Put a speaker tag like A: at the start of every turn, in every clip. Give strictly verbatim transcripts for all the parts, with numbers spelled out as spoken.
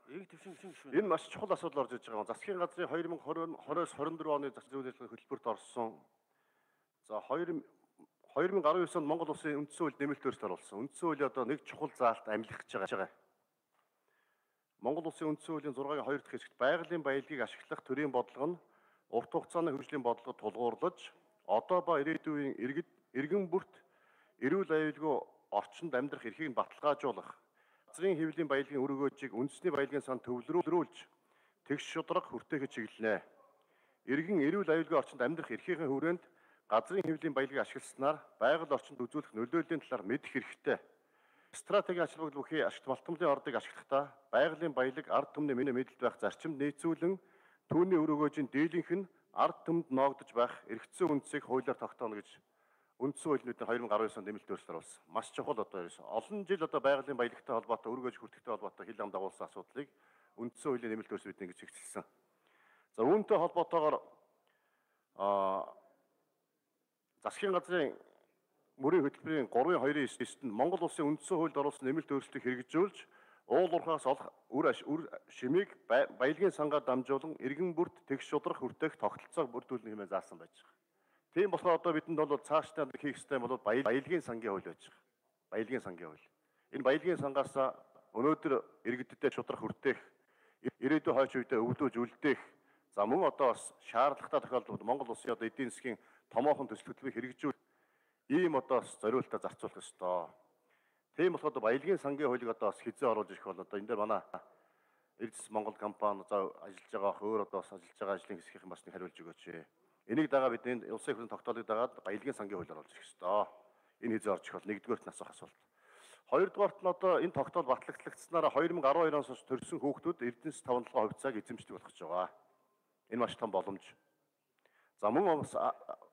A: Энэ маш чухал асуудал орж иж байгаа. Засгийн газрын две тысячи двадцать-двадцать тwenty-four оны засгийн зөвлөлийн хөтөлбөрт орсон. За two thousand nineteen онд Монгол Улсын үндсэн хууль нэмэлт өөрчлөлт оруулсан. Үндсэн хууль одоо нэг чухал заалт амлих гэж байгаа. Монгол Улсын үндсэн хуулийн six-гийн two дахь хэсэгт байгалийн баялагийг ашиглах төрийн бодлого нь урт хугацааны хөгжлийн бодлогод тулгуурлаж, одоо ба ирээдүйн иргэд иргэн бүрт эрүүл аюулгүй орчинд амьдрах эрхийг баталгаажуулах, газрын хэвлэлийн баялагын үр өгөөжийг үндэсний баялагын сан төвлөрүүлж, тэгш шударга хүртээхэд чиглэнэ. Иргэн эрүүл аюулгүй орчинд амьдрах эрхийн хүрээнд газрын хэвлэлийн баялагийг ашигласнаар байгаль орчинд үзүүлэх нөлөөллийн талаар мэдэх хэрэгтэй. Стратегийн ач холбогдол бүхий ашигт малтмлын ордыг ашиглахдаа байгалийн баялаг ард түмний мэдэлд байх зарчимд нийцүүлэн түүний үр өгөөжийн дийлэнх нь ард түмэнд ноогдож байх эрхцэн үндсийг хуулиар тогтооно гэж үндсэн хууль нүдээр two thousand nineteen онд нэмэлт өөрчлөлт оруулсан. Маш чухал одоо ерөөс олон жил одоо байгалийн баялагтай холбоотой үр өгөөж хүртэхтэй холбоотой хил ам дагуулсан асуудлыг үндсэн хуулийн нэмэлт өөрчлөлт ингэж хэвчилсэн. За үүнтэй холбоотойгоор аа засгийн газрын мөрийн хөтөлбөрийн three two-ийн нь Монгол Улсын үндсэн хуульд оруулсан нэмэлт өөрчлөлтийг хэрэгжүүлж, уул уурхаас олох үр үр шимийг баялагын сангаар дамжуулан иргэн бүрт тэгш шударга хүртээх тогтолцоог бүрдүүлнэ хэмээн заасан байж байгаа. Тийм болохоор одоо бидэнд бол цаашдаа хийх ёстой бол баялагын сангийн хууль байж байгаа. Баялагын сангийн хууль. Энэ баялагын сангаас өнөөдөр иргэдтэй шударга хүртээх, ирээдүйн хойч үедээ өвлөж үлдээх, за мөн одоо бас шаардлагатай тохиолдолд Монгол Улсын одоо эдийн засгийн томоохон төсөл хөтөлбөрийг хэрэгжүүлэх ийм одоо зориултаа зарцуулах ёстой. Тийм болохоор баялагын сангийн хуулийг одоо бас хизээ оруулж ирэх бол одоо энэ дээр манай Эрдэс Монгол компани за ажиллаж байгаа өөр одоо бас ажиллаж байгаа ажлын хэсгийнхэн бас нэг хариулж өгөөч. Энийг дагаа бид энэ улсын хурлын тогтоолыг дагаад баялагын сангийн хууль оруулж ирэх ёстой. Энэ хизээ орж ирэх бол нэгдүгээрт нь асуух асуулт. Хоёрдугаарт нь одоо энэ тогтоол батлагдсанаар two thousand twelve оноос хойш төрсэн хүүхдүүд Эрдэнэс five толгой хувьцааг эзэмшдэг болох гэж байгаа. Энэ маш том боломж. За мөн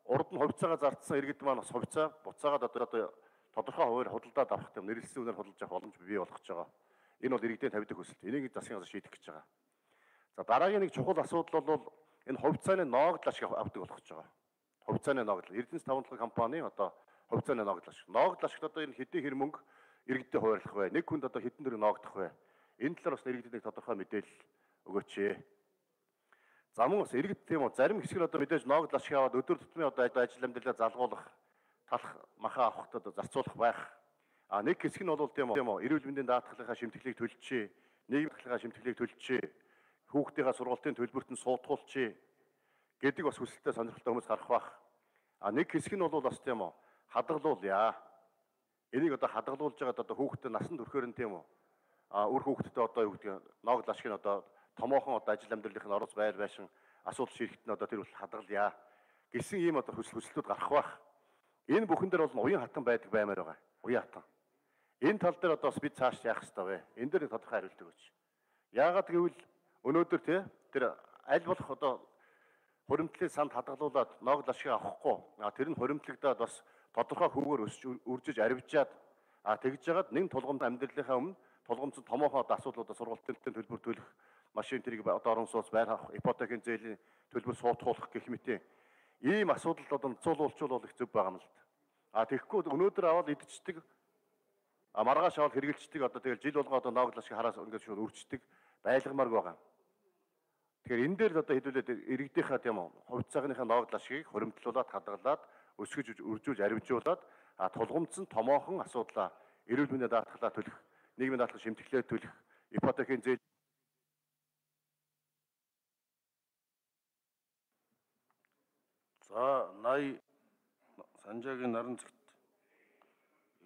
A: урд нь хувьцаагаа зардсан иргэд маань бас хувьцаа буцаагаад одоо одоо тодорхой хуваар худалдаад авах гэм нэрэлсэн үнээр худалдаж авах боломж бий болох гэж байгаа. Энэ бол иргэдийн тавьдаг хүсэлт. Энийг засгийн газар шийдэх гэж байгаа. За дараагийн нэг чухал асуудал бол энэ хувьцааны ноогдол ашиг авдаг болох гэж байгаа. Хувьцааны ноогдол. Эрдэнэс five толгой компани одоо хувьцааны ноогдол ашиг. Ноогдол ашигт одоо энэ хэдийн хэр мөнгө иргэдэд хуваарлах вэ? Нэг хүнд одоо хэдэн төгрөг ноогдох вэ? Энэ талаар бас иргэдэд нэг тодорхой мэдээлэл өгөөч. За мөн бас иргэд тийм үү зарим хэсэг нь одоо мэдээж ноогдол ашиг аваад өдөр тутмын одоо ажил амьдралаа залгуулах, талах, махаа авахд одоо зарцуулах байх. А нэг хэсэг нь бол тийм үү эрүүл мэндийн даатгалынхаа шимтгэлийг төлчихье, нийгэм даатгалынхаа шимтгэлийг төлчихье, хүүхдийнхаа сургалтын төлбөрт нь суудгуулчихье гэдэг бас хүсэлтэй сонирхолтой хүмүүс гарах байх. А нэг хэсэг нь бол бас тийм үү хадгалуулъя. Энийг одоо хадгалуулж байгаад одоо хүүхдэд насанд хүрэхээр нь тийм үү а үр хүүхдэд одоо юу гэдэг ноогдол ашиг нь одоо томоохон одоо ажил амьдралын орос байр байшин асуудал ширхт нь одоо тэр бол хадгалъя гэсэн ийм одоо хүсэл хүсэлтүүд гарах байх. Энэ бүхэн дээр бол уян хатан байдаг баймаар байгаа. Уян хатан. Энэ тал дээр одоо бид цааш яах ёстой вэ? Энэ дээр тодорхой хариулт өгөөч. Яагаад гэвэл өнөөдөр тий тэр аль болох одоо хуримтлалын санд хадгалуулаад ноогдол ашиг авахгүй. А тэр нь хуримтлагдаад бас тодорхой хүүгээр өсч үржиж арвижаад а тэгж жагаад нэг тулгамд амьдралынхаа өмнө тулгамдсан томоохон одоо асуудлуудаа сургалтын төлбөр төлөх, машин тэрийг одоо орон сууц байр авах, ипотекийн зээлийн төлбөр суутгуулах гэх мэт ийм асуудал одоо цуулуулчул их зөв байгаа юм л да. А тэгэхгүй өнөөдөр аваад идчихдэг а маргааш аваад хэрэгжилчдэг одоо тэгэл жил болгоо одоо ноогдол ашиг хараас ингээд шууд үрждэг байлгамаар байгаа. Тэгэхээр энэ дээр одоо хэдүүлээд иргэдийнхаа тийм үү хувьцаагийнхаа ноогдол ашигыг хуримтлуулаад хадгалаад өсгөж үржүүлж арвижуулаад а тулгамдсан томоохон асуудлаа эрүүл мэндийн даатгалаа төлөх, нийгмийн даатгал шимтгэлээ төлөх, ипотекийн зээл
B: За наяа Санжаагийн наран зэгт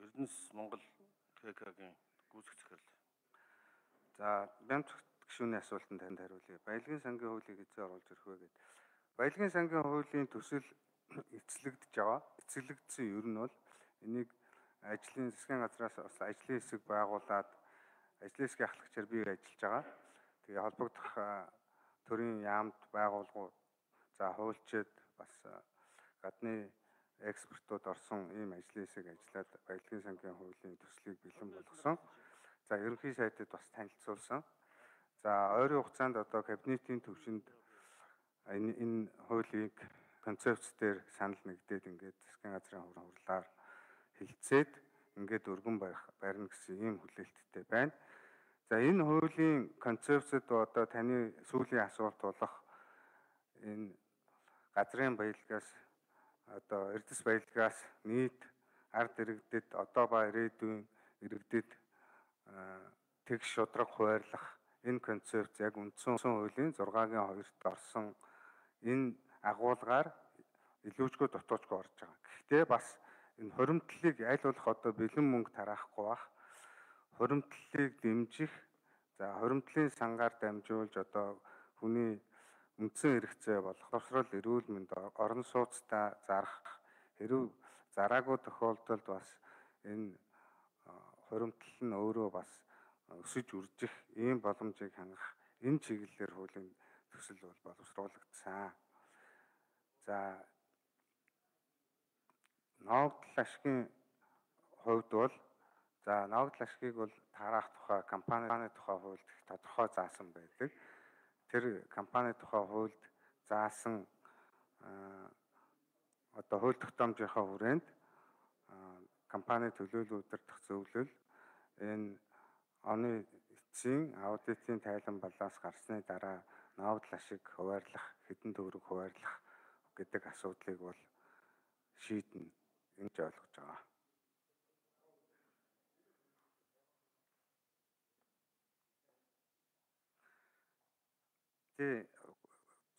B: Эрдэнэс Монгол КК-гийн гүйцэх захирал.
C: За бямц гишүүний асуултанд танд хариулъя. Баялагын сангийн хуулийг эзээ оруулж ирэх вэ гэдэг. Баялагын сангийн хуулийн төсөл эцэлэгдэж байгаа. Эцэлэгдсэн ер нь бол энийг ажлын засгийн газраас бас ажлын хэсэг байгуулад ажлын хэсгийн ахлагчаар бий ажиллаж байгаа. Тэгээ холбогдох төрийн яамд байгууллагууд за хуульчид бас гадны экспертууд орсон ийм ажлын хэсэг ажиллаад баялагын сангийн хуулийн төслийг бэлэн болгосон. За ерөнхий сайдад бас танилцуулсан. За ойрын хугацаанд одоо кабинетийн төвшөнд энэ энэ хуулийг концепц дээр санал нэгдээд ингээд засгийн газрын хуран хурлаар хилцээд ингээд өргөн барих барина гэсэн ийм хүлээлттэй байна. За энэ хуулийн концепцэд одоо таны сүүлийн асуулт болох энэ газрын баялагаас одоо эрдэс баялагаас нийт ард иргэдэд одоо ба ирээдүйн иргэдэд тэгш шудраг хуваарлах энэ концепц яг үндсэн хуулийн зургагийн хоёрт орсон энэ агуулгаар илүүчгүй дутуучгүй орж байгаа. Гэхдээ бас энэ хуримтлалыг аль болох одоо бэлэн мөнгө тараахгүй бах, хуримтлалыг дэмжих, за хуримтлалын сангаар дамжуулж одоо хүний үндсэн хэрэгцээ болох боловсрол, эрүүл мэнд, орон сууцтай зарах, хэрв зараагүй тохиолдолд бас энэ хуримтлал нь өөрөө бас өсөж үржих ийм боломжийг хангах энэ чиглэлээр хуулийн төсөл бол боловсруулагдсан. За ногдол ашигын хувьд бол за ногдол ашигыг бол тараах тухай компанийн тухай хуульд их тодорхой заасан байдаг. Тэр компани тухай хуульд заасан одоо хууль тогтоомжийнхаа хүрээнд компани төлөөлөл удирдах зөвлөл энэ оны эцсийн аудитын тайлан балаас гарсны дараа ногдол ашиг хуваарлах, хэдэн төгрөг хуваарлах гэдэг асуудлыг бол шийднэ гэж ойлгож байгаа. Тэ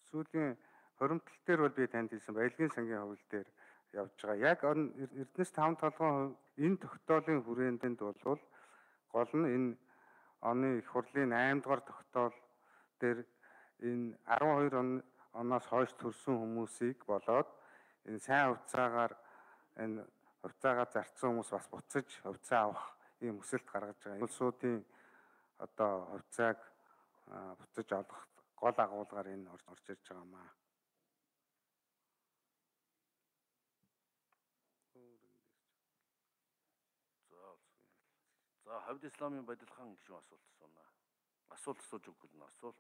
C: сүүлийн хуримтлал дээр бол би танд хэлсэн баялагын сангийн хууль дээр явж байгаа. Яг Эрдэнэс таван толгойн энэ тогтоолын хүрээнд бол гол нь энэ оны их хурлын айм дугаар тогтоол дээр энэ арван хоёр оноос хойш төрсэн хүмүүсийг болоод энэ сайн хувьцаагаар энэ хувьцаагаа зарцсан хүмүүс бас буцаж хувьцаа авах ийм хүсэлт гаргаж байгаа. Улсуудын одоо хувьцааг буцаж олох гол агуулгаар энэ орж ирж байгаа маа.
B: За хавьд исламын баялгаан гишүүн асуулт асууна. Асуулт асууж өгвөл нь асуулт